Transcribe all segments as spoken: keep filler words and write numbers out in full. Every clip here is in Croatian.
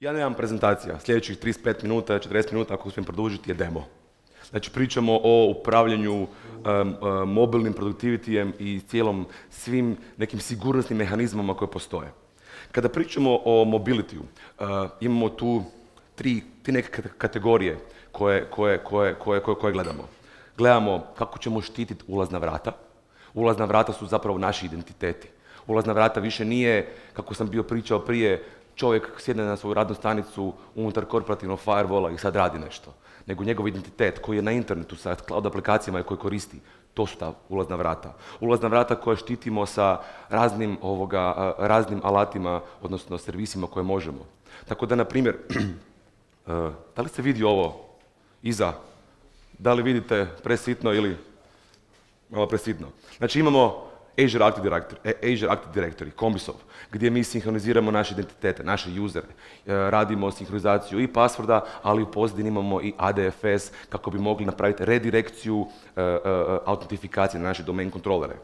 Ja nemam prezentacija. Sljedećih trideset pet minuta, četrdeset minuta, ako uspijem produžiti, je demo. Znači, pričamo o upravljanju um, um, mobilnim produktivitijem i cijelom svim nekim sigurnosnim mehanizmama koje postoje. Kada pričamo o mobilitiju, uh, imamo tu tri, tri neke kategorije koje, koje, koje, koje, koje, koje gledamo. Gledamo kako ćemo štititi ulazna vrata. Ulazna vrata su zapravo naši identiteti. Ulazna vrata više nije, kako sam bio pričao prije, čovjek sjedne na svoju radnu stanicu unutar korporativnog firewalla i sad radi nešto. Nego njegov identitet koji je na internetu sa cloud aplikacijama i koji koristi, to su ta ulazna vrata. Ulazna vrata koje štitimo sa raznim, ovoga, raznim alatima, odnosno servisima koje možemo. Tako da, na primjer, da li se vidi ovo iza? Da li vidite presitno ili malo presitno? Znači, imamo Azure Active Directory, Azure Active Directory, Combisov, gdje mi sinhroniziramo naše identitete, naše usere, radimo sinhronizaciju i passworda, ali u pozadini imamo i A D F S kako bi mogli napraviti redirekciju autentifikacije na naše domain kontrolere.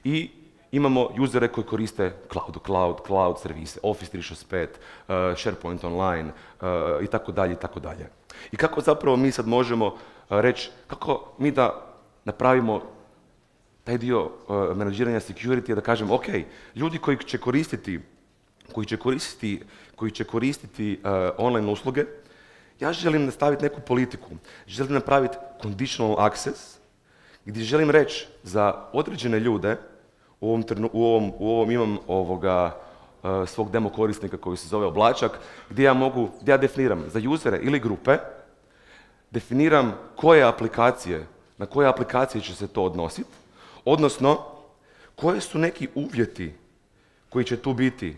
I imamo usere koji koriste cloud, cloud, cloud servise, Office tri šezdeset pet, SharePoint Online i tako dalje i tako dalje. I kako zapravo mi sad možemo reći, kako mi da napravimo taj dio uh, menadžiranja security je da kažem, ok, ljudi koji će koristiti, koji će koristiti, koji će koristiti uh, online usluge, ja želim nastaviti neku politiku, želim napraviti conditional access, gdje želim reći za određene ljude, u ovom, trenu, u ovom, u ovom imam ovoga, uh, svog demo korisnika koji se zove Oblačak, gdje ja mogu, gdje ja definiram za usere ili grupe, definiram koje aplikacije, na koje aplikacije će se to odnositi, odnosno, koje su neki uvjeti koji će tu biti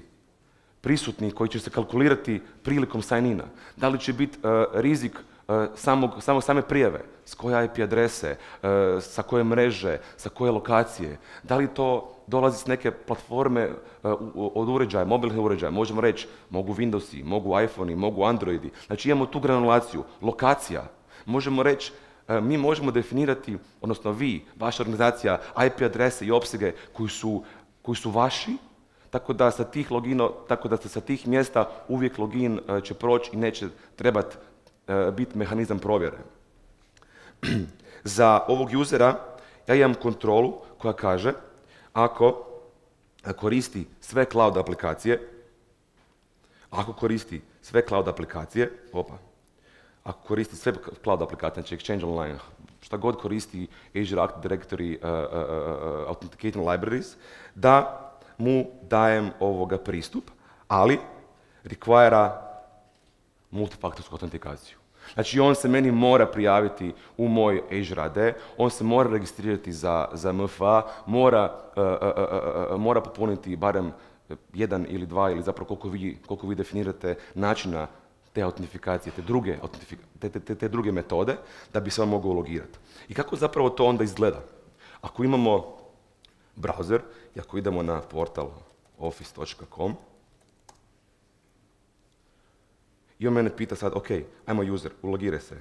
prisutni, koji će se kalkulirati prilikom sign-ina. Da li će biti uh, rizik uh, samog, samog same prijave, s koje I P adrese, uh, sa koje mreže, sa koje lokacije. Da li to dolazi s neke platforme uh, od uređaja, mobilnih uređaja. Možemo reći, mogu Windowsi, mogu iPhone-i, mogu Androidi. Znači imamo tu granulaciju, lokacija. Možemo reći, mi možemo definirati, odnosno vi, vaša organizacija, I P adrese i opsege koji su, koji su vaši, tako da sa tih logino, tako da sa tih mjesta uvijek login će proći i neće trebati biti mehanizam provjere. Za ovog usera ja imam kontrolu koja kaže ako koristi sve cloud aplikacije, ako koristi sve cloud aplikacije, opa, ako koristi sve cloud aplikacije, znači Exchange Online, šta god koristi Azure Active Directory uh, uh, uh, Authenticating Libraries, da mu dajem ovoga pristup, ali require multifaktorsku autentikaciju. Znači on se meni mora prijaviti u moj Azure A D, on se mora registrirati za, za M F A, mora, uh, uh, uh, mora popuniti barem jedan ili dva ili zapravo koliko vi, koliko vi definirate načina te autentifikacije, te druge, te, te, te druge metode, da bi se on mogao logirati. I kako zapravo to onda izgleda? Ako imamo browser i ako idemo na portal office točka com i on mene pita sad, ok, ajmo user, ulogiraj se.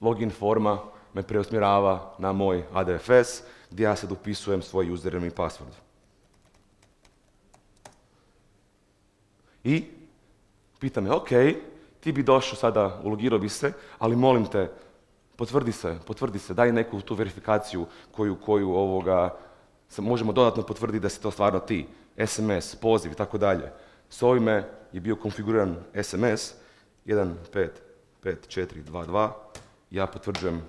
Login forma me preusmjerava na moj A D F S gdje ja sad upisujem svoj username i password. I pita me, ok, ti bi došao sada, ulogirao bi se, ali molim te, potvrdi se, potvrdi se, daj neku tu verifikaciju koju, koju ovoga, možemo dodatno potvrditi da si to stvarno ti, S M S, poziv i tako dalje. S ovime je bio konfiguriran S M S jedan pet pet četiri dva dva, ja potvrđujem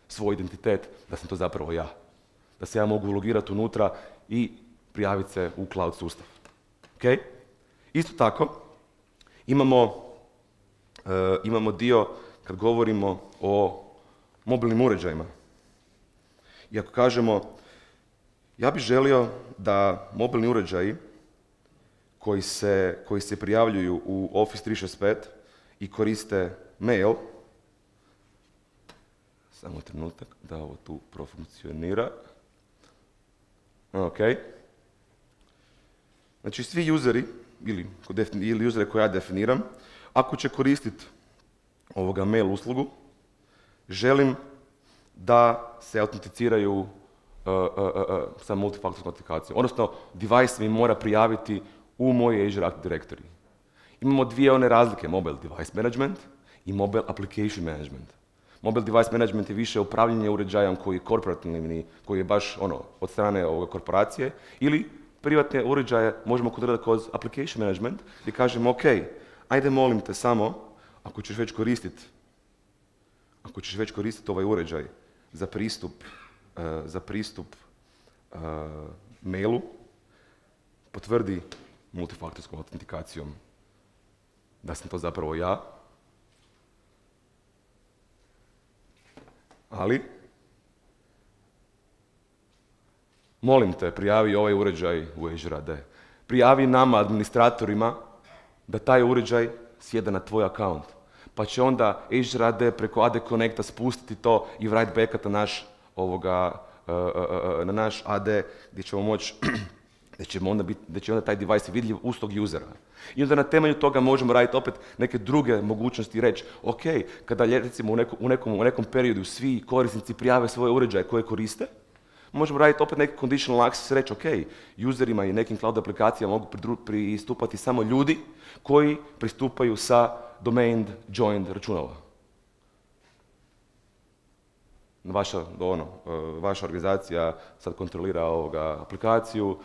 svoj identitet da sam to zapravo ja. Da se ja mogu ulogirati unutra i prijaviti se u cloud sustav. Okay? Isto tako, imamo, uh, imamo dio kad govorimo o mobilnim uređajima. I ako kažemo, ja bih želio da mobilni uređaji koji se, koji se prijavljuju u Office tri šezdeset pet i koriste mail, samo trenutak da ovo tu profunkcionira. Ok. Znači svi useri, ili, ili usere koje ja definiram, ako će koristiti ovoga mail uslugu, želim da se autenticiraju uh, uh, uh, sa multifaktorskom autentikacijom. Odnosno, device mi mora prijaviti u moj Azure Active Directory. Imamo dvije one razlike, Mobile Device Management i Mobile Application Management. Mobile Device Management je više upravljanje uređajem koji je korporativni, koji je baš ono, od strane ovoga korporacije, ili privatne uređaje možemo kontrolirati kroz Application Management gdje kažemo, ok, ajde molim te samo, ako ćeš već koristiti ako ćeš već koristiti ovaj uređaj za pristup, uh, za pristup uh, mailu, potvrdi multifaktorskom autentikacijom da sam to zapravo ja, ali molim te, prijavi ovaj uređaj u Azure A D. Prijavi nama, administratorima, da taj uređaj sjeda na tvoj account. Pa će onda Azure A D preko A D Connecta spustiti to i write backup na naš, ovoga, uh, uh, uh, na naš A D gdje ćemo moći da će onda, bit, da će onda taj device vidljiv uz tog usera. I onda na temelju toga možemo raditi opet neke druge mogućnosti i reći, ok, kada recimo u, neko, u, nekom, u nekom periodu svi korisnici prijave svoje uređaje koje koriste, možemo raditi opet neki conditional access i reći, ok, userima i nekim cloud aplikacijama mogu pristupati samo ljudi koji pristupaju sa domain joined računala. Vaša, ono, vaša organizacija sad kontrolira ovoga aplikaciju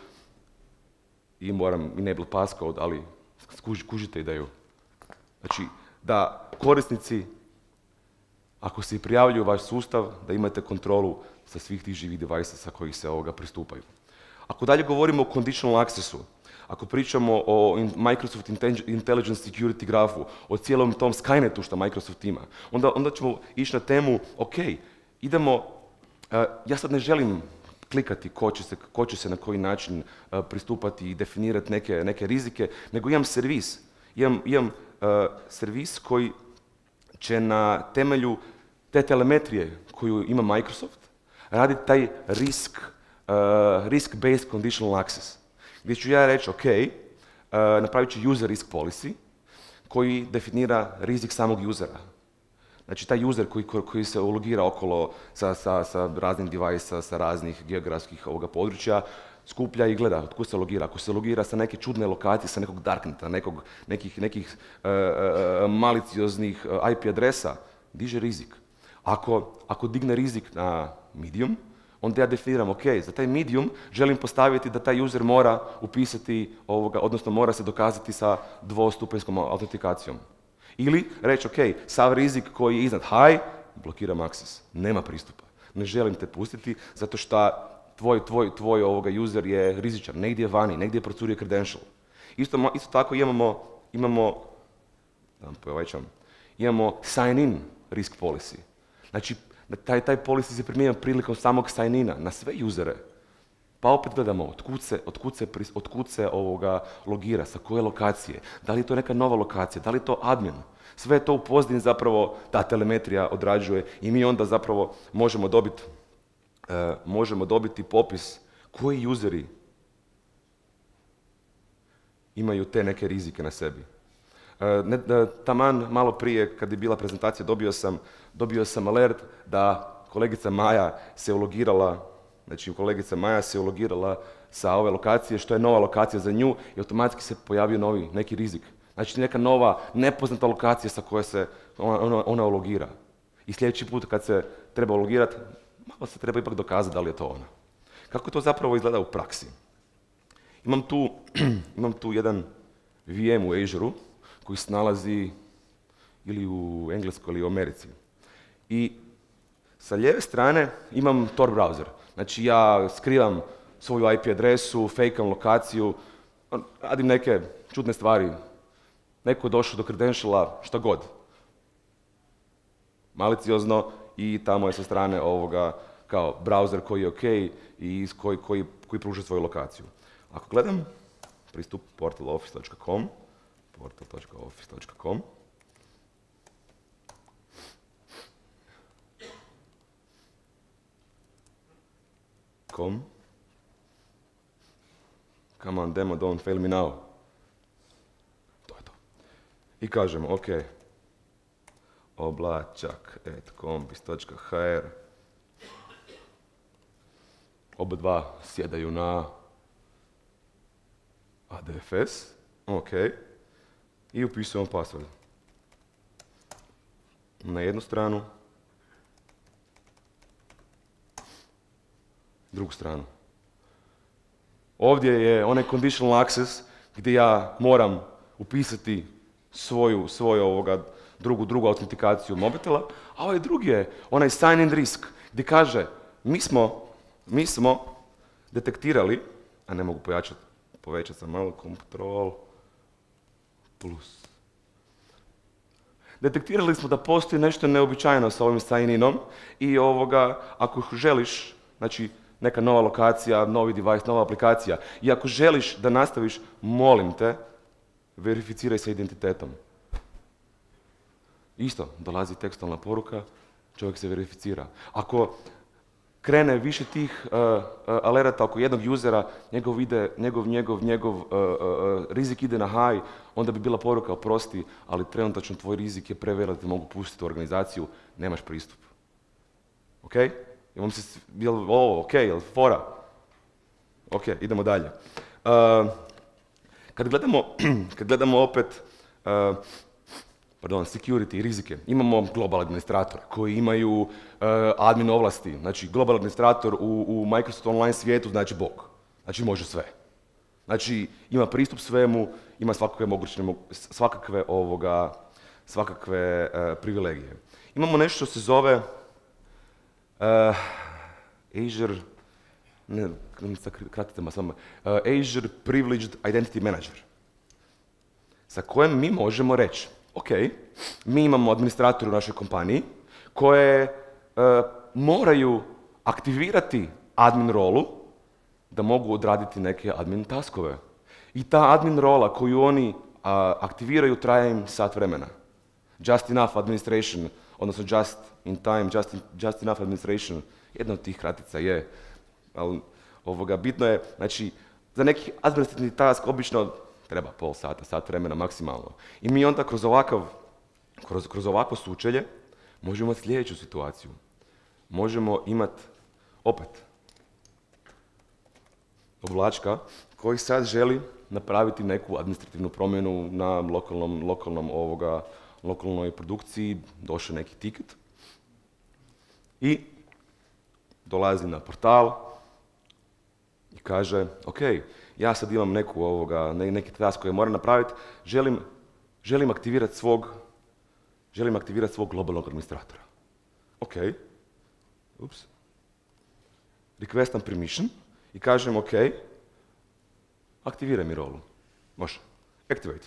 i moram enable passcode, ali skužite ideju. Znači, da korisnici, ako se prijavljuju u vaš sustav, da imate kontrolu sa svih tih živih devajsa sa kojih se ovoga pristupaju. Ako dalje govorimo o conditional accessu, ako pričamo o Microsoft Intelligent Security grafu, o cijelom tom Skynetu što Microsoft ima, onda, onda ćemo ići na temu, ok, idemo, uh, ja sad ne želim klikati ko će se, ko će se na koji način uh, pristupati i definirati neke, neke rizike, nego imam servis. Imam, imam uh, servis koji će na temelju te telemetrije koju ima Microsoft raditi taj risk, uh, risk-based conditional access. Gdje ću ja reći, ok, uh, napravit ću user risk policy koji definira rizik samog usera. Znači taj user koji, koji se ulogira okolo sa, sa, sa raznih device-a, sa raznih geografskih ovoga područja, skuplja i gleda od kud se logira. Ako se logira sa neke čudne lokacije, sa nekog darkneta, nekog, nekih, nekih uh, uh, malicioznih uh, I P adresa, diže rizik. Ako, ako digne rizik na medium, onda ja definiram, ok, za taj medium želim postaviti da taj user mora upisati, ovoga, odnosno mora se dokazati sa dvostupanjskom autentikacijom. Ili reći, ok, sav rizik koji je iznad high, blokiram access, nema pristupa. Ne želim te pustiti zato što tvoj, tvoj, tvoj ovoga user je rizičan, negdje je vani, negdje je procurio credential. Isto, isto tako imamo, imamo, da vam povećam, imamo sign in risk policy. Znači, taj, taj policy se primjenjuje prilikom samog sign-ina na sve usere. Pa opet gledamo otkud se, otkud se, otkud se ovoga logira, sa koje lokacije, da li je to neka nova lokacija, da li je to admin. Sve to u pozadini zapravo ta telemetrija odrađuje i mi onda zapravo možemo dobiti, uh, možemo dobiti popis koji useri imaju te neke rizike na sebi. Uh, ne, uh, taman malo prije kad je bila prezentacija dobio sam, dobio sam alert da kolegica Maja se ulogirala, znači kolegica Maja se ulogirala sa ove lokacije, što je nova lokacija za nju i automatski se pojavio novi neki rizik. Znači neka nova nepoznata lokacija sa koje se ona, ona, ona ulogira. I sljedeći put kad se treba ulogirati, malo se treba ipak dokazati da li je to ona. Kako to zapravo izgleda u praksi? Imam tu, imam tu jedan V M u Azure-u koji se nalazi ili u Engleskoj ili u Americi. I sa lijeve strane imam Tor browser. Znači ja skrivam svoju I P adresu, fejkam lokaciju, radim neke čudne stvari. Neko je došao do credentiala, šta god. Maliciozno i tamo je sa strane ovoga kao browser koji je ok i koji, koji, koji pruža svoju lokaciju. Ako gledam pristup portal office dot com, portal dot office dot com, com. Come on, demo, don't fail me now. To je to. I kažemo, ok, oblačak at kombis dot h r, oba dva sjedaju na A D F S, ok, i upisujemo password. Na jednu stranu, drugu stranu. Ovdje je onaj conditional access gdje ja moram upisati svoju, svoju ovoga, drugu, drugu autentikaciju mobitela, a ovaj drugi je onaj sign in risk gdje kaže mi smo, mi smo detektirali, a ne mogu pojačati, povećati sam malo, control plus. Detektirali smo da postoji nešto neobičajno sa ovim sign-inom i ovoga, ako želiš, znači neka nova lokacija, novi device, nova aplikacija, i ako želiš da nastaviš, molim te, verificiraj sa identitetom. Isto, dolazi tekstualna poruka, čovjek se verificira. Ako krene više tih uh, uh, alerata oko jednog usera, njegov, ide, njegov, njegov, njegov uh, uh, rizik ide na high, onda bi bila poruka, oprosti, ali trenutačno tvoj rizik je prevelik da te mogu pustiti u organizaciju, nemaš pristup. Ok? Imam se, jel, o, ok, jel, fora? Ok, idemo dalje. Uh, kad, gledamo, kad gledamo opet uh, pardon, security, rizike, imamo global administrator koji imaju uh, admin ovlasti. Znači, global administrator u, u Microsoft Online svijetu znači Bog. Znači, može sve. Znači, ima pristup svemu, ima svakakve moguće, svakakve ovoga, svakakve uh, privilegije. Imamo nešto što se zove uh, Azure, ne, kratite ma samo, uh, Azure Privileged Identity Manager, sa kojim mi možemo reći, ok, mi imamo administratore u našoj kompaniji koje uh, moraju aktivirati admin rolu da mogu odraditi neke admin taskove. I ta admin rola koju oni uh, aktiviraju traje im sat vremena. Just enough administration, odnosno just in time, just, in, just enough administration, jedna od tih kratica je, ali ovoga, bitno je, znači, za neki administrativni task obično treba pol sata, sat vremena maksimalno. I mi onda kroz ovakav, kroz, kroz ovakvo sučelje možemo imati sljedeću situaciju. Možemo imati, opet, oblačka koji sad želi napraviti neku administrativnu promjenu na lokalnom, lokalnom ovoga, lokalnoj produkciji, došao neki tiket i dolazi na portal i kaže, ok, ja sad imam neku ovoga, neki task koji moram napraviti, želim, želim aktivirati svog, želim aktivirati svog globalnog administratora. Ok, ups, requestam permission i kažem, ok, aktiviraj mi rolu. Može, activate.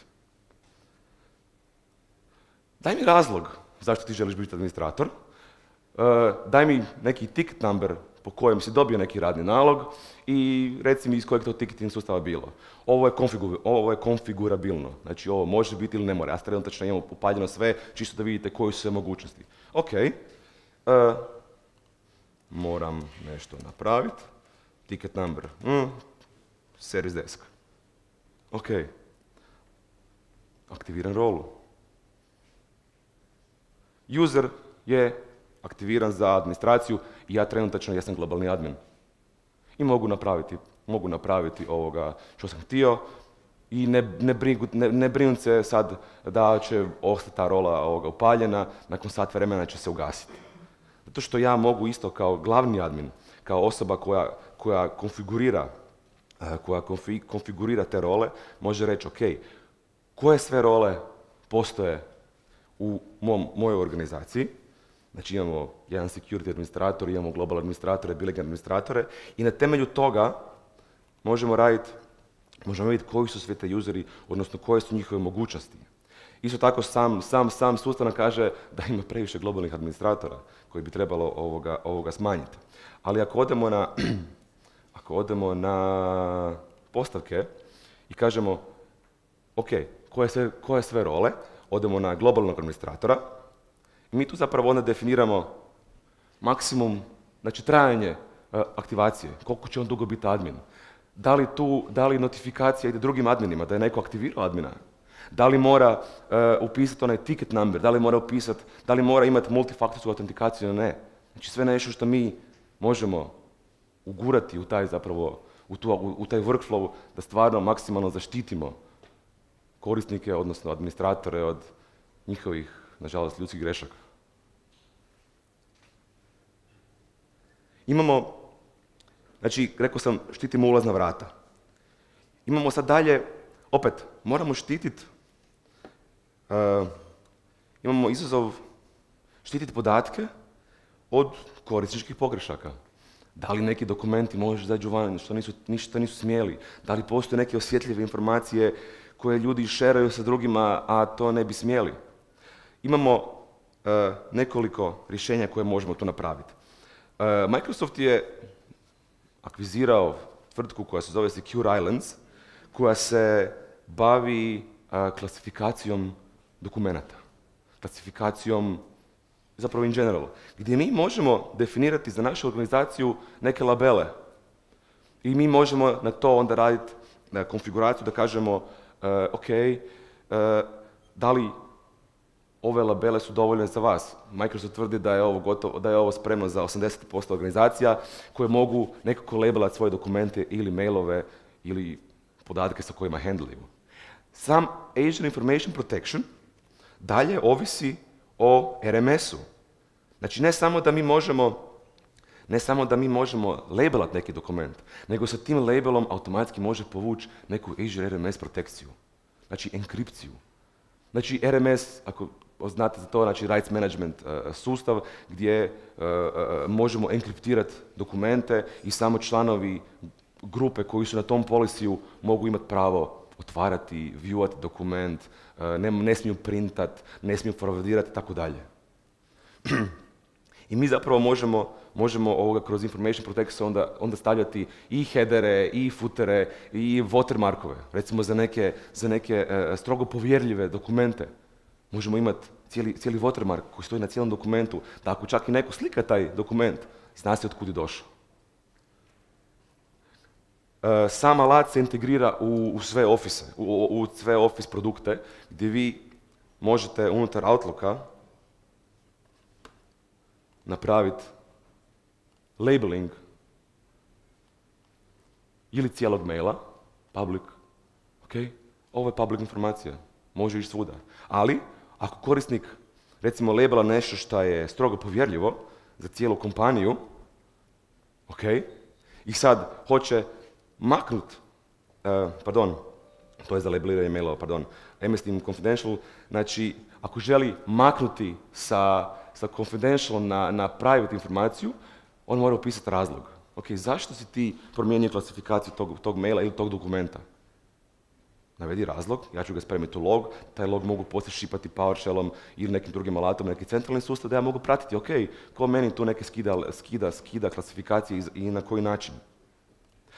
Daj mi razlog zašto ti želiš biti administrator, uh, daj mi neki ticket number po kojem si dobio neki radni nalog i reci mi iz kojeg to ticketing sustava bilo. Ovo je, konfigu, ovo je konfigurabilno, znači ovo može biti ili ne mora. Ja trenutačno imam upaljeno sve, čisto da vidite koje su sve mogućnosti. Ok, uh, moram nešto napraviti, ticket number, mm, service desk. Ok, aktiviram rolu. User je aktiviran za administraciju i ja trenutačno jesam globalni admin. I mogu napraviti, mogu napraviti ovoga što sam htio i ne, ne, brigu, ne, ne brinu se sad da će ostati ta rola ovoga upaljena, nakon sat vremena će se ugasiti. Zato što ja mogu isto kao glavni admin, kao osoba koja, koja konfigurira, koja konfi, konfigurira te role, može reći ok, koje sve role postoje u mom, mojoj organizaciji. Znači imamo jedan security administrator, imamo global administratore, billing administratore i na temelju toga možemo raditi, možemo vidjeti koji su sve te useri, odnosno koje su njihove mogućnosti. Isto tako sam, sam, sam sustav nam kaže da ima previše globalnih administratora koji bi trebalo ovoga, ovoga smanjiti. Ali ako odemo na, ako odemo na postavke i kažemo ok, koje sve, koje sve role, odemo na globalnog administratora, i mi tu zapravo onda definiramo maksimum, znači trajanje uh, aktivacije, koliko će on dugo biti admin. Da li tu, da li notifikacija ide drugim adminima, da je neko aktivirao admina? Da li mora uh, upisati onaj ticket number, da li mora upisati, da li mora imati multifaktorsku autentikaciju ili ne? Znači sve nešto što mi možemo ugurati u taj zapravo, u, tu, u, u taj workflow da stvarno maksimalno zaštitimo korisnike, odnosno administratore od njihovih, nažalost, ljudskih grešaka. Imamo, znači, rekao sam, štitimo ulazna vrata. Imamo sad dalje, opet, moramo štititi, uh, imamo izazov štititi podatke od korisničkih pogrešaka. Da li neki dokumenti možeš izađu van, što nisu, ništa nisu smjeli? Da li postoje neke osjetljive informacije koje ljudi šeraju sa drugima, a to ne bi smjeli? Imamo uh, nekoliko rješenja koje možemo to napraviti. Uh, Microsoft je akvizirao tvrtku koja se zove Secure Islands, koja se bavi uh, klasifikacijom dokumenata, klasifikacijom zapravo in general, gdje mi možemo definirati za našu organizaciju neke labele i mi možemo na to onda raditi na konfiguraciju da kažemo uh, ok, uh, da li ove labele su dovoljne za vas. Microsoft tvrdi da je ovo gotovo, da je ovo spremno za osamdeset posto organizacija koje mogu nekako labelati svoje dokumente ili mailove ili podatke sa kojima handlaju. Sam Azure Information Protection dalje ovisi o R M S-u. Znači ne samo da mi možemo, ne samo da mi možemo labelati neki dokument, nego sa tim labelom automatski može povući neku Azure R M S protekciju. Znači enkripciju. Znači R M S, ako znate za to, znači rights management uh, sustav gdje uh, uh, možemo enkriptirati dokumente i samo članovi grupe koji su na tom policiju mogu imati pravo otvarati, viewati dokument, uh, ne, ne smiju printat, ne smiju forwardirati i tako dalje. I mi zapravo možemo, možemo ovoga kroz Information Protection onda, onda stavljati i headere, i footere, i watermarkove. Recimo za neke, za neke uh, strogo povjerljive dokumente možemo imati cijeli, cijeli watermark koji stoji na cijelom dokumentu, da ako čak i neko slika taj dokument, zna se od kud je došao. Uh, sam alat se integrira u, u sve Office, u, u sve Office produkte, gdje vi možete unutar Outlooka napraviti labeling ili cijelog maila, public, ok, ovo je public informacija, može ići svuda. Ali, ako korisnik recimo labela nešto što je strogo povjerljivo za cijelu kompaniju, ok, i sad hoće maknut, uh, pardon, to je za labeliranje mailova, pardon, M S Team Confidential, znači ako želi maknuti sa, sa confidential na, na private informaciju, on mora upisati razlog. Ok, zašto si ti promijenio klasifikaciju tog, tog maila ili tog dokumenta? Navedi razlog, ja ću ga spremiti u log, taj log mogu poslije šipati PowerShellom ili nekim drugim alatom, neki centralni sustav da ja mogu pratiti, ok, ko meni tu neke skida, skida, skida klasifikacije i, i na koji način.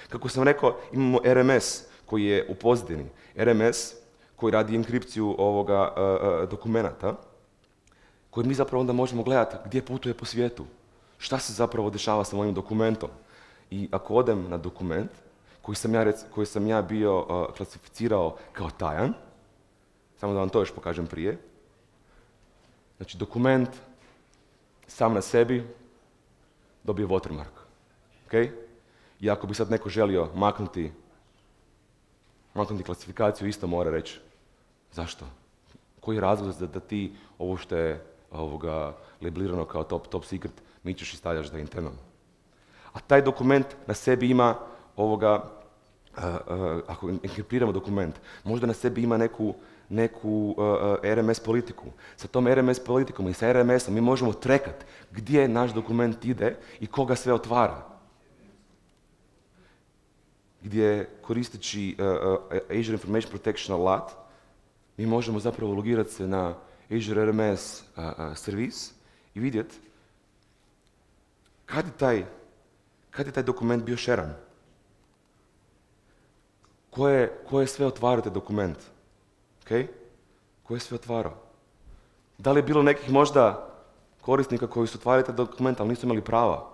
Kako sam rekao, imamo R M S koji je u pozadini, R M S koji radi enkripciju ovoga uh, uh, dokumenata, koji mi zapravo onda možemo gledati gdje putuje po svijetu, šta se zapravo dešava sa mojim dokumentom. I ako odem na dokument koji sam ja, rec, koji sam ja bio uh, klasificirao kao tajan, samo da vam to još pokažem prije, znači dokument sam na sebi dobije watermark. Okay? I ako bi sad neko želio maknuti, maknuti klasifikaciju, isto mora reći zašto. Koji je razlog da, da ti ovo što je ovoga, labelirano kao top, top secret mičeš i stavljaš da je interno. A taj dokument na sebi ima ovoga, uh, uh, ako enkriptiramo dokument, možda na sebi ima neku, neku uh, uh, R M S politiku. Sa tom R M S politikom i sa R M S-om mi možemo trekat gdje naš dokument ide i koga sve otvara. Gdje koristeći uh, uh, Azure Information Protection alat, mi možemo zapravo logirati se na Azure R M S uh, uh, servis i vidjeti kad je taj, kad je taj dokument bio šeran. Ko je, ko je sve otvarao taj dokument? Okay? Ko je sve otvarao? Da li je bilo nekih možda korisnika koji su otvarali taj dokument, ali nisu imali prava?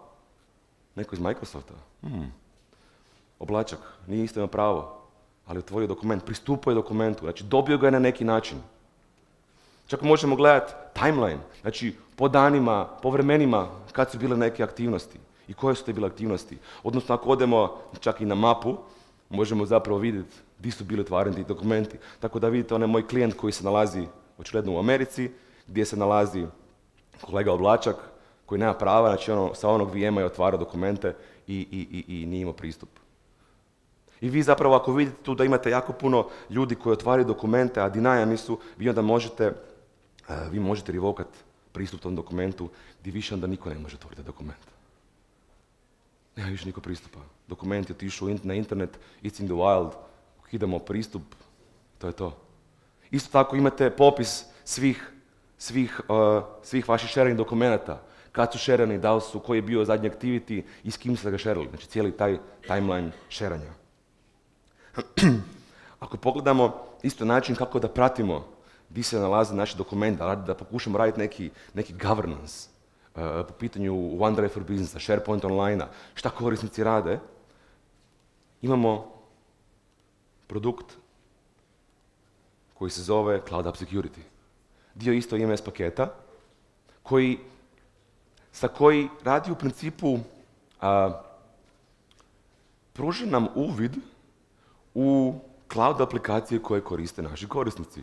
Neko iz Microsofta? Hmm. Oblačak, nije isto imao pravo, ali otvorio dokument, pristupao je dokumentu, znači dobio ga je na neki način. Čak možemo gledati timeline, znači po danima, po vremenima kad su bile neke aktivnosti. i koje su te bile aktivnosti. Odnosno, ako odemo čak i na mapu, možemo zapravo vidjeti gdje su bili otvareni ti dokumenti. Tako da vidite onaj moj klijent koji se nalazi očigledno u Americi, gdje se nalazi kolega Oblačak, koji nema prava, znači ono, sa onog V M-a je otvarao dokumente i, i, i, i nije imao pristup. I vi zapravo ako vidite tu da imate jako puno ljudi koji otvaraju dokumente, a dinajami su, vi onda možete, uh, vi možete revokat pristup tom dokumentu gdje više onda niko ne može otvoriti dokument. Nema više niko pristupa. Dokument je otišao na internet, it's in the wild, ukidamo pristup, to je to. Isto tako imate popis svih, svih, uh, svih vaših sharing dokumenata. Kad su šerani, da li su, koji je bio zadnji activity i s kim ste ga šerali. Znači cijeli taj timeline šeranja. Ako pogledamo isto način kako da pratimo gdje se nalaze naši dokumenti, da, da pokušamo raditi neki, neki governance uh, po pitanju OneDrive for Businessa, SharePoint Online-a, šta korisnici rade, imamo produkt koji se zove Cloud App Security. Dio isto I M S paketa, koji, sa koji radi u principu, a, pruža nam uvid u cloud aplikacije koje koriste naši korisnici.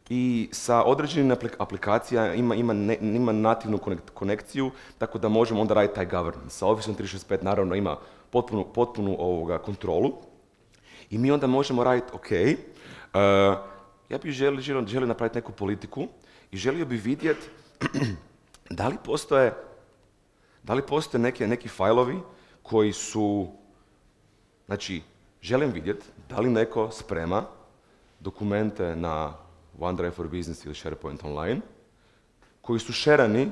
I sa određenim aplikacija ima, ima, ne, ima nativnu konekciju, tako da možemo onda raditi taj governance. Sa Office tri šezdeset pet naravno ima potpunu, potpunu ovoga, kontrolu i mi onda možemo raditi, ok, uh, ja bih želio, želio, želio napraviti neku politiku i želio bih vidjeti da li postoje, da li postoje neke, neki fajlovi koji su, znači, želim vidjeti da li neko sprema dokumente na OneDrive for Business ili SharePoint Online koji su šerani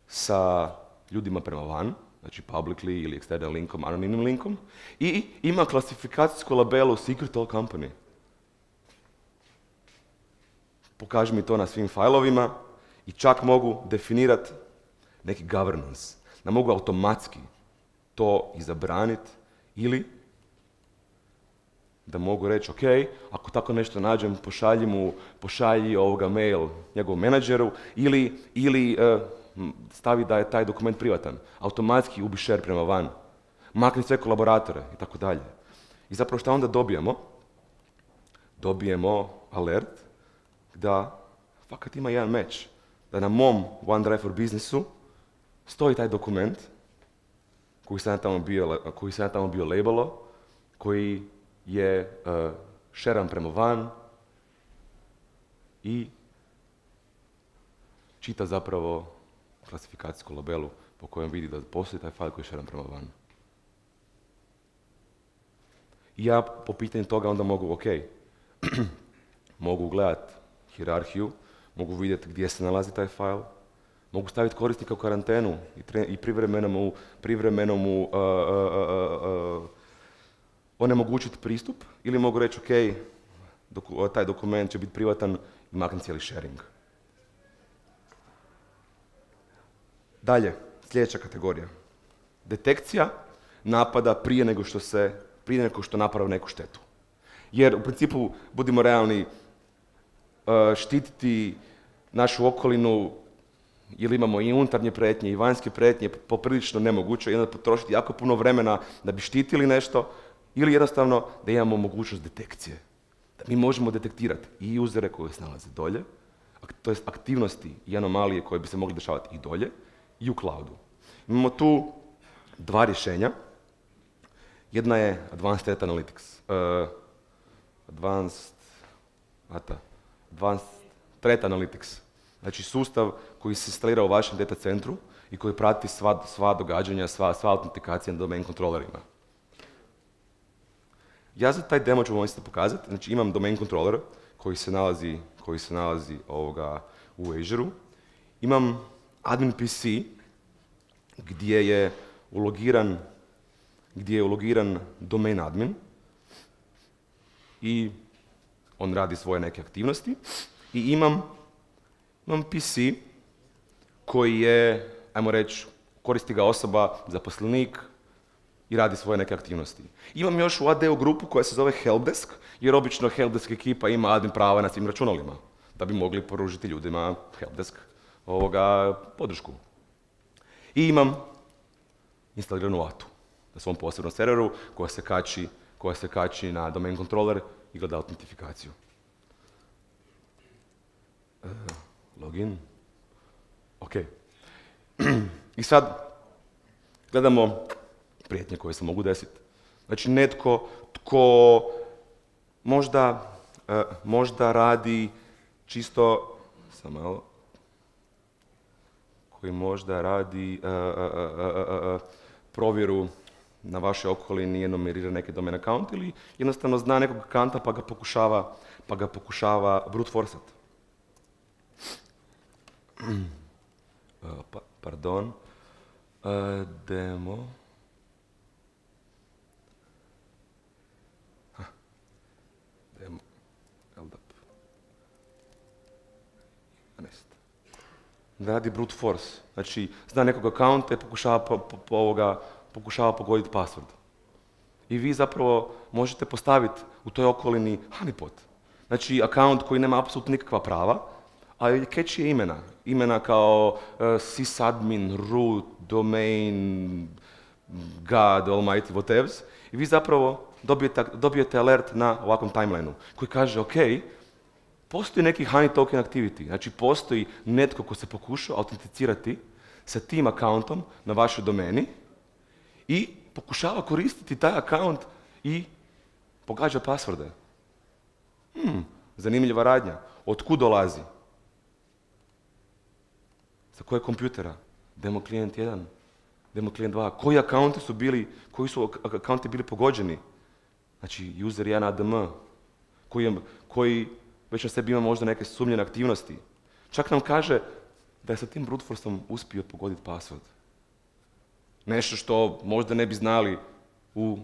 sa ljudima prema van, znači publicly ili external linkom, anonimnim linkom, i ima klasifikacijsku labelu Secret All Company. Pokaži mi to na svim fajlovima i čak mogu definirati neki governance. Da mogu automatski to i zabraniti ili da mogu reći, ok, ako tako nešto nađem, pošalji mu, pošalji ovoga mail njegovom menadžeru ili, ili uh, stavi da je taj dokument privatan. Automatski ubi share prema van. Makni sve kolaboratore i tako dalje. I zapravo šta onda dobijemo? Dobijemo alert da fakat ima jedan match. Da na mom OneDrive for Businessu stoji taj dokument koji sam tamo bio, koji sam tamo bio labelo, koji je uh, šeran prema van i čita zapravo klasifikacijsku labelu po kojem vidi da postoji taj fajl koji je šeran prema van. I ja po pitanju toga onda mogu, ok, mogu gledati hijerarhiju, mogu vidjeti gdje se nalazi taj fajl, mogu staviti korisnika u karantenu i, tre, i privremeno mu, privremeno mu uh, uh, uh, uh, onemogućiti pristup, ili mogu reći, ok, doku, taj dokument će biti privatan i maknem cijeli sharing. Dalje, sljedeća kategorija. Detekcija napada prije nego što se, prije nego što napravi neku štetu. Jer u principu, budimo realni, štititi našu okolinu, ili imamo i unutarnje prijetnje i vanjske prijetnje, poprilično nemoguće, i onda potrošiti jako puno vremena da bi štitili nešto, ili jednostavno da imamo mogućnost detekcije. Da mi možemo detektirati i usere koji se nalaze dolje, to jest aktivnosti i anomalije koje bi se mogli dešavati i dolje, i u cloudu. Imamo tu dva rješenja. Jedna je Advanced Threat Analytics. Uh, Advanced, ata, Advanced Threat Analytics. Znači sustav koji se instalira u vašem data centru i koji prati sva, sva događanja, sva, sva autentikacija na domain kontrolerima. Ja za taj demo ću vam isto pokazati. Znači imam domain controller koji se nalazi, koji se nalazi ovoga u Azure-u. Imam admin P C gdje je ulogiran, gdje je ulogiran domain admin i on radi svoje neke aktivnosti. I imam, imam P C koji je, ajmo reći, koristi ga osoba, zaposlenik i radi svoje neke aktivnosti. Imam još u A D-u grupu koja se zove Helpdesk, jer obično Helpdesk ekipa ima admin prava na svim računalima, da bi mogli poružiti ljudima Helpdesk ovoga podršku. I imam instaliranu atu na svom posebnom serveru koja se kači, koja se kači na domain controller i gleda autentifikaciju. Uh, login. Ok. I sad gledamo prijetnje koje se mogu desiti. Znači netko tko možda, uh, možda radi čisto, samo malo, koji možda radi uh, uh, uh, uh, provjeru na vašoj okolini, enumerira neki domain account ili jednostavno zna nekog akanta pa ga pokušava, pa ga pokušava brute forceat. Uh, pa, pardon. Uh, demo. Ha. Demo. L D A P. Da radi brute force. Znači, zna nekog akaunta i pokušava, po, po, po ovoga, pokušava pogoditi password. I vi zapravo možete postaviti u toj okolini honeypot. Znači, akaunt koji nema apsolutno nikakva prava, a catchy je imena. Imena kao uh, sysadmin, root, domain, god, almighty, whatevs. I vi zapravo dobijete, dobijete alert na ovakvom timelineu koji kaže, ok, postoji neki honey token activity, znači postoji netko ko se pokušao autenticirati sa tim akauntom na vašoj domeni i pokušava koristiti taj akaunt i pogađa pasvorde. Hmm, zanimljiva radnja. Otkud dolazi? Sa kojeg kompjutera? Demo klijent jedan, demo klijent dva. Koji akaunti su bili, koji su akaunti bili pogođeni? Znači user jedan A D M, koji, koji već na sebi ima možda neke sumnjene aktivnosti. Čak nam kaže da je sa tim brute forceom uspio pogoditi password. Nešto što možda ne bi znali u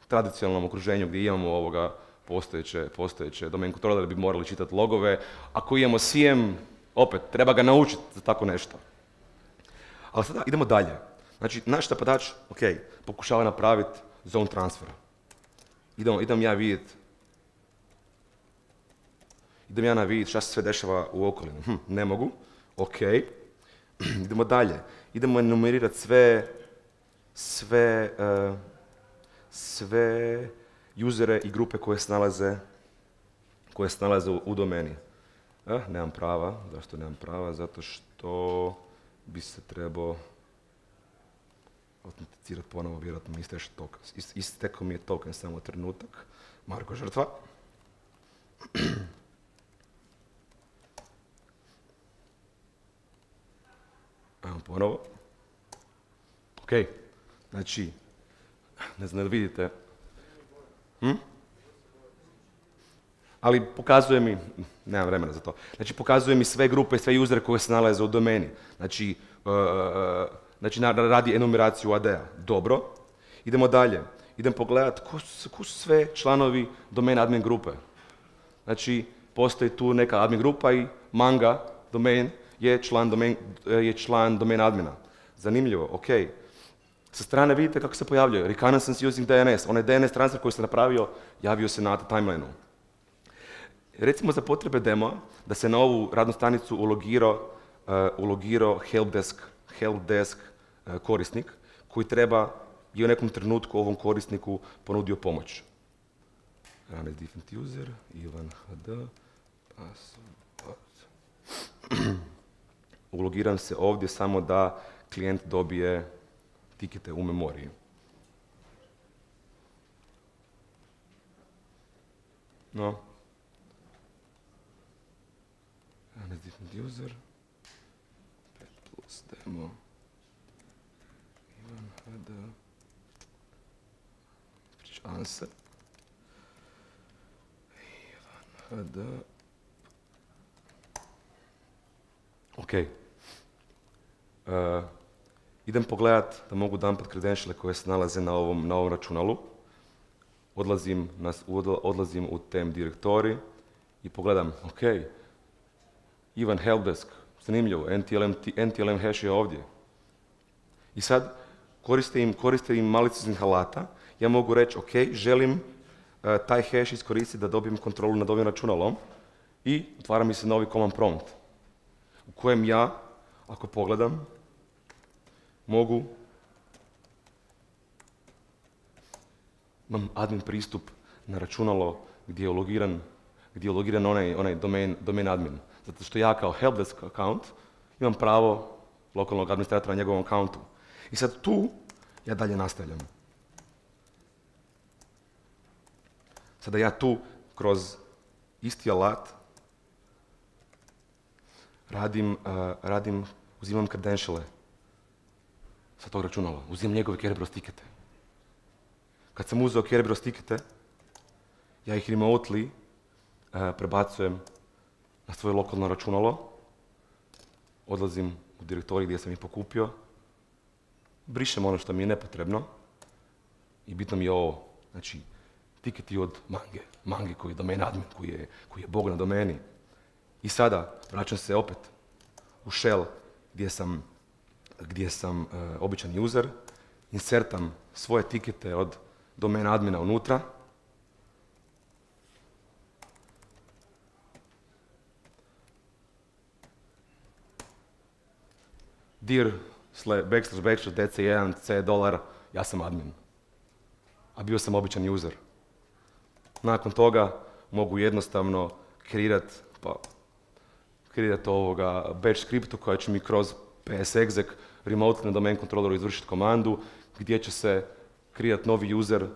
tradicionalnom okruženju gdje imamo ovoga postojeće, postojeće domain controller da bi morali čitati logove. Ako imamo C M, opet, treba ga naučiti za tako nešto. Ali sada idemo dalje. Znači, naš napadač, ok, pokušava napraviti zone transfera. Idem, idem ja vidjeti Idem ja na vidjeti šta se sve dešava u okolini. Hm, ne mogu. Ok. Idemo dalje. Idemo enumerirati sve, sve, uh, sve usere i grupe koje se nalaze, koje se nalaze u, u domeni. Eh, nemam prava. Zašto nemam prava? Zato što bi se trebao autenticirati ponovo, vjerojatno mi isteš token. Istekao mi je token, samo trenutak. Marko žrtva. Ajmo ponovo. Ok, znači, ne znam da vidite. Hm? Ali pokazuje mi, nemam vremena za to, znači pokazuje mi sve grupe, sve usere koje se nalaze u domeni. Znači, uh, znači radi enumeraciju A D-a. Dobro. Idemo dalje. Idem pogledati ko su, ko su sve članovi domain admin grupe. Znači, postoji tu neka admin grupa i manga domain je član domain, je član domain admina. Zanimljivo, ok. Sa strane vidite kako se pojavljaju. Reconnaissance using D N S. Onaj D N S transfer koji se napravio, javio se na timelineu. Recimo za potrebe demo da se na ovu radnu stanicu ulogirao, uh, ulogirao helpdesk, helpdesk uh, korisnik koji treba i u nekom trenutku ovom korisniku ponudio pomoć. Run as different user, Ivan H D, password. Ulogiram se ovdje samo da klijent dobije tikete u memoriji. No. Run as different user. pet plus demo. Ivan H D. Ispričavam se. Ivan H D. Ok. Uh, idem pogledat da mogu dumpat credentiale koje se nalaze na ovom, na ovom računalu. Odlazim, na, odlazim u tem direktori i pogledam, ok, Ivan helpdesk, zanimljivo, N T L M, N T L M hash je ovdje. I sad koriste im, koriste im malicioznih alata, ja mogu reći, ok, želim uh, taj hash iskoristiti da dobijem kontrolu nad ovim računalom i otvara mi se novi command prompt u kojem ja, ako pogledam, mogu, imam admin pristup na računalo gdje je logiran, gdje je logiran onaj, onaj domain, domain admin. Zato što ja kao helpdesk account imam pravo lokalnog administratora na njegovom accountu. I sad tu ja dalje nastavljam. Sada ja tu kroz isti alat radim, uh, radim uzimam credentiale sa tog računala, uzimam njegove Kerberos tikete. Kad sam uzeo Kerberos tikete, ja ih remotely uh, prebacujem na svoje lokalno računalo, odlazim u direktorij gdje sam ih pokupio, brišem ono što mi je nepotrebno i bitno mi je ovo, znači, tiketi od Mange, Mange koji je domain admin, koji je, koji je bog na domeni. I sada vraćam se opet u shell gdje sam, gdje sam uh, običan user, insertam svoje tikete od domain admina unutra, dir backslash backslash D C jedan C dolar, ja sam admin, a bio sam običan user. Nakon toga mogu jednostavno kreirati pa, kreirati ovoga batch skriptu koja će mi kroz psexec remote na domain controlleru izvršiti komandu gdje će se kreirati novi user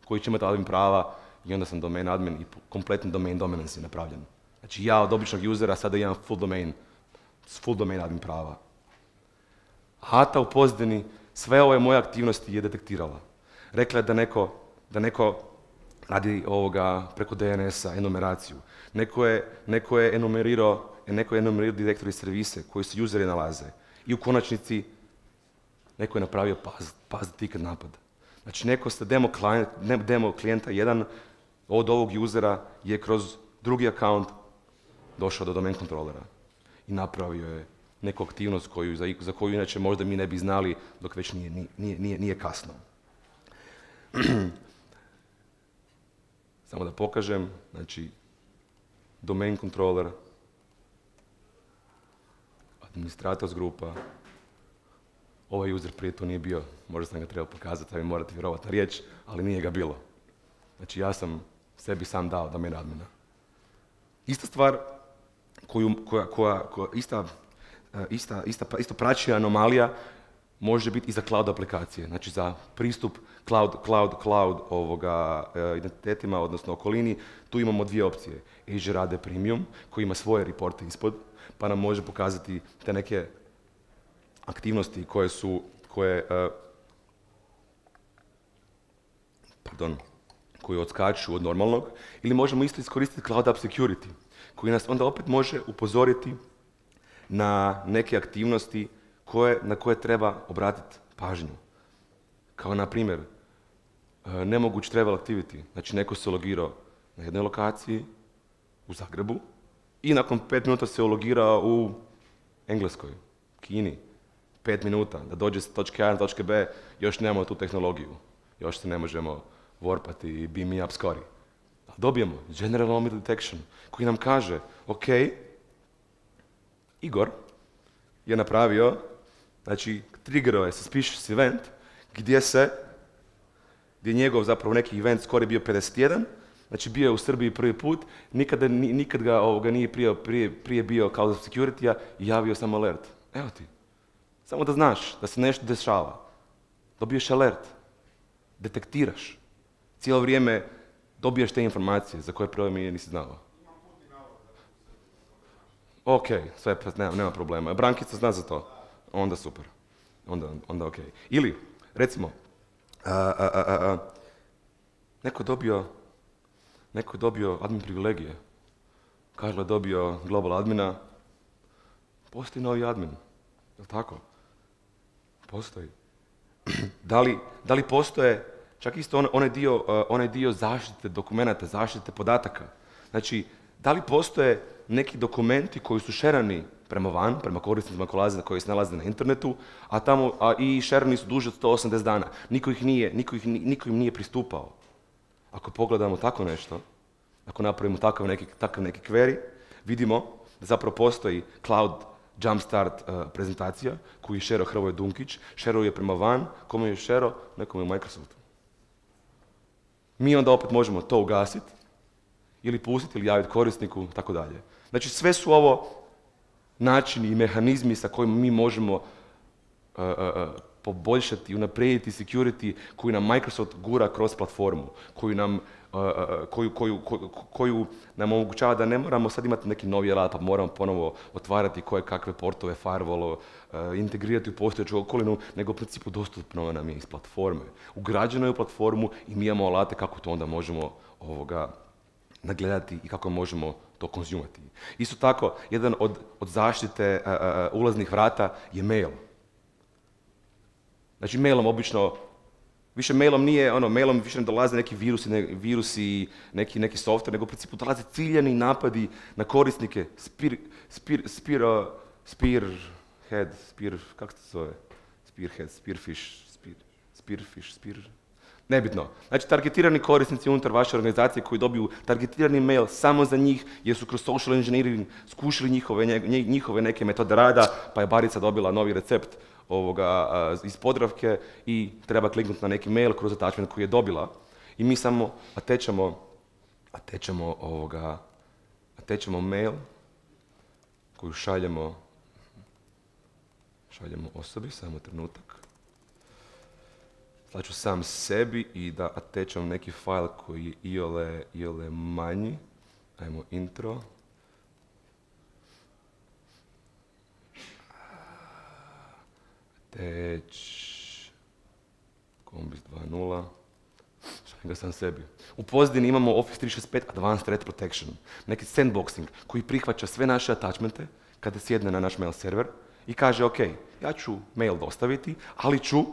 koji će imati admin prava i onda sam domain admin i kompletni domain dominance je napravljen. Znači ja od običnog usera sada imam full domain, full domain admin prava. Hata u pozadini sve ove moje aktivnosti je detektirala. Rekla je da neko, da neko radi ovoga preko D N S-a, enumeraciju. Neko je, neko je enumerirao, neko je enumerirao direktori servise koji se useri nalaze. I u konačnici neko je napravio paz, paz ticket napad. Znači neko sa demo, klijent, demo klijenta jedan od ovog usera je kroz drugi account došao do domain kontrolera i napravio je neku aktivnost koju, za, za koju inače možda mi ne bi znali dok već nije, nije, nije, nije kasno. Samo da pokažem, znači domain controller, administrators grupa, ovaj user prije to nije bio, možda sam ga trebao pokazati, a vi morate vjerovati na riječ, ali nije ga bilo. Znači ja sam sebi sam dao domain admina. Ista stvar, koju, koja, koja, koja ista, ista, ista, isto praćija anomalija može biti i za cloud aplikacije, znači za pristup cloud, cloud, cloud ovoga, e, identitetima, odnosno okolini. Tu imamo dvije opcije. Azure A D Premium, koji ima svoje reporte ispod, pa nam može pokazati te neke aktivnosti koje su, koje, e, pardon, koji odskaču od normalnog, ili možemo isto iskoristiti Cloud App Security, koji nas onda opet može upozoriti na neke aktivnosti koje, na koje treba obratiti pažnju. Kao na primjer, nemoguć travel activity, znači neko se logirao na jednoj lokaciji u Zagrebu i nakon pet minuta se ulogirao u Engleskoj, Kini, pet minuta, da dođe s točke A na točke B, još nemamo tu tehnologiju, još se ne možemo warpati i beam me up skori. Ali dobijemo General Anomaly Detection koji nam kaže, ok, Igor je napravio, znači triggerao je suspicious event gdje se, gdje je njegov zapravo neki event skoro bio pedeset jedan, znači bio je u Srbiji prvi put, nikada, nikad ga ovoga nije prije, prije, prije bio Cloud Security-a i javio sam alert. Evo ti, samo da znaš da se nešto dešava. Dobiješ alert, detektiraš. Cijelo vrijeme dobiješ te informacije za koje prvo mi nisi znao. Ok, sve, nema, nema problema. Brankica zna za to. Onda super. Onda, onda ok. Ili, recimo, a, a, a, a, neko je dobio, neko je dobio admin privilegije. Karlo je dobio global admina. Postoji novi admin. Je li tako? Postoji. Da li, da li postoje čak isto on, onaj, dio, uh, onaj dio zaštite dokumenata, zaštite podataka? Znači, da li postoje neki dokumenti koji su šerani prema van, prema korisnicima koji se nalaze na internetu, a, tamo, a i šerani su duže od sto osamdeset dana. Niko, ih nije, niko, ih, niko im nije pristupao. Ako pogledamo tako nešto, ako napravimo takav neki, takav neki query, vidimo da zapravo postoji cloud Jumpstart uh, prezentacija koju je šero Hrvoje Dunkić. Šero je prema van, kome je šero? Nekom je u Microsoftu. Mi onda opet možemo to ugasiti ili pustiti ili javiti korisniku, tako dalje. Znači sve su ovo načini i mehanizmi sa kojima mi možemo uh, uh, poboljšati, unaprijediti security koju nam Microsoft gura kroz platformu, koju nam, uh, uh, koju, koju, koju, koju nam omogućava da ne moramo sad imati neki novi alat, pa moramo ponovo otvarati koje kakve portove, firewall, uh, integrirati u postojeću okolinu, nego u principu dostupno nam je iz platforme. Ugrađeno je u platformu i mi imamo alate kako to onda možemo ovoga nagledati i kako možemo to konzumati. Isto tako, jedan od, od zaštite uh, uh, ulaznih vrata je mail. Znači mailom obično, više mailom nije, ono, mailom više ne dolaze neki virusi, ne, virusi neki, neki software, nego u principu dolaze ciljani napadi na korisnike, spear, spear, spear, uh, spearhead, spear, kako se zove? Spearhead, spearfish, spear, spearfish, spear... Nebitno. Znači, targetirani korisnici unutar vaše organizacije koji dobiju targetirani mail samo za njih, jer su kroz social engineering skušili njihove, njihove neke metode rada, pa je Barica dobila novi recept ovoga, iz Podravke i treba kliknuti na neki mail kroz attachment koji je dobila. I mi samo atečemo, atečemo, ovoga, atečemo mail koju šaljemo, šaljemo osobi, samo trenutak. Slaću sam sebi i da atečem neki file koji je iole, iole manji. Ajmo intro. Attach. Kombis dva nula. Šaljem ga sam sebi. U pozadini imamo Office tri šezdeset pet Advanced Threat Protection. Neki sandboxing koji prihvaća sve naše attachmente kada sjedne na naš mail server i kaže ok, ja ću mail dostaviti, ali ću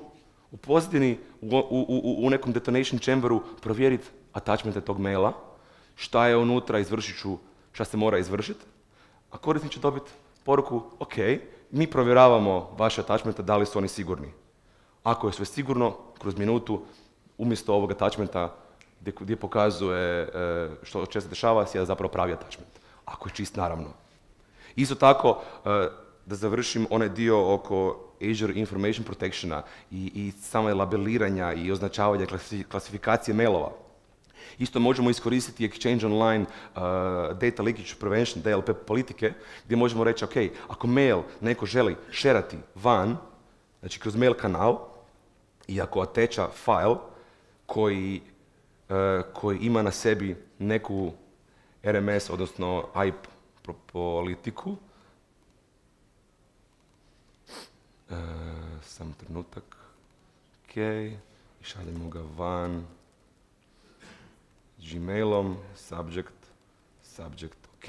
u pozadini, u, u, u, u nekom detonation chamberu provjeriti attachmente tog maila, šta je unutra, izvršit ću šta se mora izvršiti, a korisnik će dobiti poruku, ok, mi provjeravamo vaše attachmente, da li su oni sigurni. Ako je sve sigurno, kroz minutu, umjesto ovog attachmenta gdje, gdje pokazuje e, što će se dešava, sjeda zapravo pravi attachment. Ako je čist, naravno. Isto tako, e, da završim onaj dio oko Azure Information Protectiona i, i same labeliranja i označavanja klasifikacije mailova. Isto možemo iskoristiti Exchange Online uh, Data Leakage Prevention, D L P politike, gdje možemo reći, ok, ako mail neko želi šerati van, znači kroz mail kanal, i ako ateča file koji, uh, koji ima na sebi neku R M S, odnosno I P politiku, Uh, sam trenutak, ok, i šaljemo ga van Gmailom, subject, subject, ok.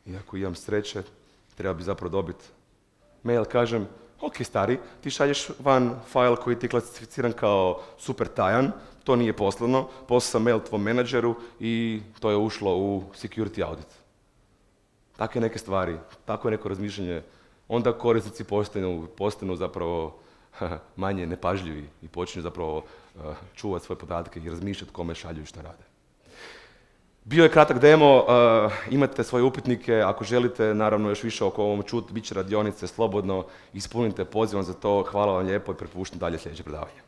I ako imam sreće, treba bi zapravo dobiti mail, kažem, ok stari, ti šalješ van file koji ti je klasificiran kao super tajan, to nije poslano, poslao sam mail tvom menadžeru i to je ušlo u security audit. Takve neke stvari, tako neko razmišljanje, onda korisnici postanu, postanu zapravo manje nepažljivi i počinju zapravo uh, čuvati svoje podatke i razmišljati kome šalju i šta rade. Bio je kratak demo, uh, imate svoje upitnike, ako želite naravno još više oko ovom čut, bit će radionice, slobodno ispunite pozivom za to, hvala vam lijepo i prepuštam dalje sljedeće predavanje.